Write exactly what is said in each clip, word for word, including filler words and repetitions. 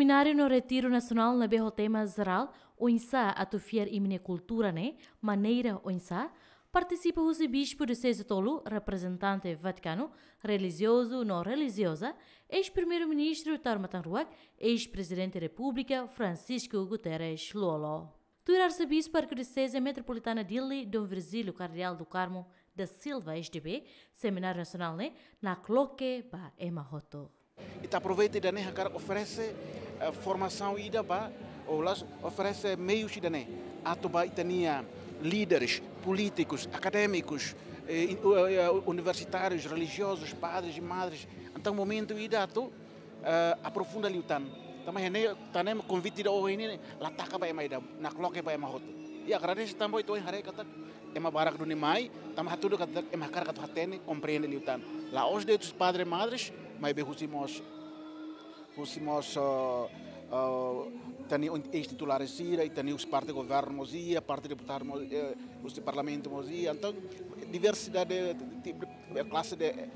Semináriu no retiru nasionál ne'ebé ho tema jerál, oinsá atu fiar imi-nia kultura ne'e, maneira oinsá, partisipa husi bispu dioseze tolu, reprezentante Vatikanu, relijiozu no relijioza, eis-primeiru-ministru Taur Matan Ruak, eis-prezidente Repúblika Francisco Guterres Lú-Olo. Tuir arsebispu arkidioseze metropolitana Dili, Dom Virgílio Kardeál do Carmo da Silva, S D B, semináriu nasionál ne'e nakloke ba ema hotu. Ita aproveita ida-ne'e hakarak oferese, eh, formasaun ida ba, ou la'ós oferese meius ida-ne'e, atu ba ita-nia líderes, polítikus, akadémikus, eh, in-, eh, eh, universitárius, relijiozus, padres e madres. Entaun, momentu ida atu, eh, aprofunda liután. Tanba ne'e, tanba ne'e konvite ida ohin ne'e la taka ba ema ida, nakloke ba ema hotu. I agradese tanba ita ohin haree katak ema barak duni mai, tanba hatudu katak ema hakarak atu hatene, komprende liután. La'ós de'it husi padre, madres, maibé husi mós, husi mós, eh, eh, ita-nia un-, eis-titulares sira, ita-nia husi parte governu mós iha, parte deputadu mós, eh, husi parlamentu mós iha. Entaun, diversidade, ti-, eh, klase de, eh,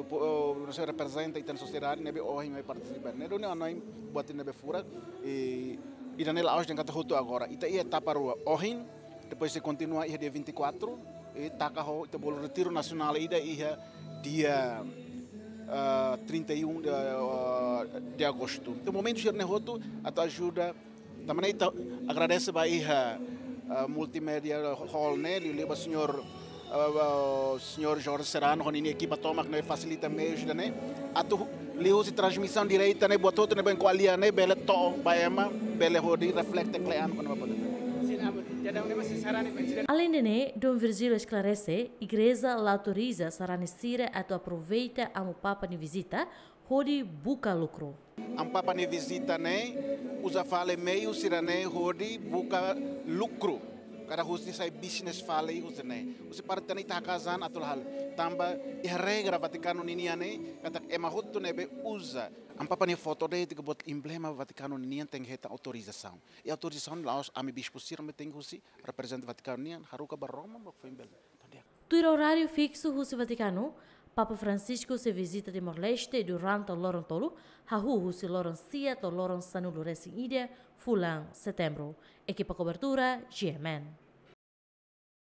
po-, eh, nasaun reprezenta ita-nia sosiedade ne'ebé ohin mai partisipa. Ne'e duni hanoin buat ne'ebé furak, i ida-ne'e la'ós dehan katak hotu agora. Ita iha etapa rua. Ohin, depois sei kontinua iha dia vinte e quatro, i taka ho, ita bolu retiru nasionál ida iha dia, ah, trinta e um de, ah, de agosto. Entaun, momentu sira-ne'e hotu atu ajuda. Tanba ne'e ita agradese ba iha, ah, multimédia hall ne'e, liuliu ba señór, ah, ah, señór Jorge Serrano, ho ninia ekipa tomak ne'e fasilita meius ida-ne'e, atu liuhusi transmisaun direta ne'e, buat hotu ne'ebé ko'alia ne'e, bele to'o ba ema, bele hodi reflete kle'an kona-ba buat ne'e. Sin, amo, ya da una vez sin sarani, presidente. Alende ne'e, Dom Virgílio esklarese, igreja la autoriza sarani sira atu aproveita Amu Papa nia vizita hodi buka lukru. Amu Papa nia vizita ne'e uza fali meius sira-ne'e hodi buka lukru. Kada husi sai bisnis fali husi ne'e. Husi parte ne'e ita haka'as an atu la halo. Tanba iha regra Vatikanu ninian ne'e, katak ema hotu ne'ebé uza Amu Papa nia foto de'it ka buat emblema Vatikanu ninian tenke hetan autorizasaun. I autorizasaun la'ós ami bispu sira mak tenke husi, reprezenta Vatikanu nian, haruka ba Roma, mak foin bele. Tuir oráriu fiksu husi Vatikanu, Papa Francisco sei vizita Timor-Leste durante loron tolu, hahú husi loron sia to'o loron sanulu-resin-ida fulan Setembru. Ekipa kobertura, G M N.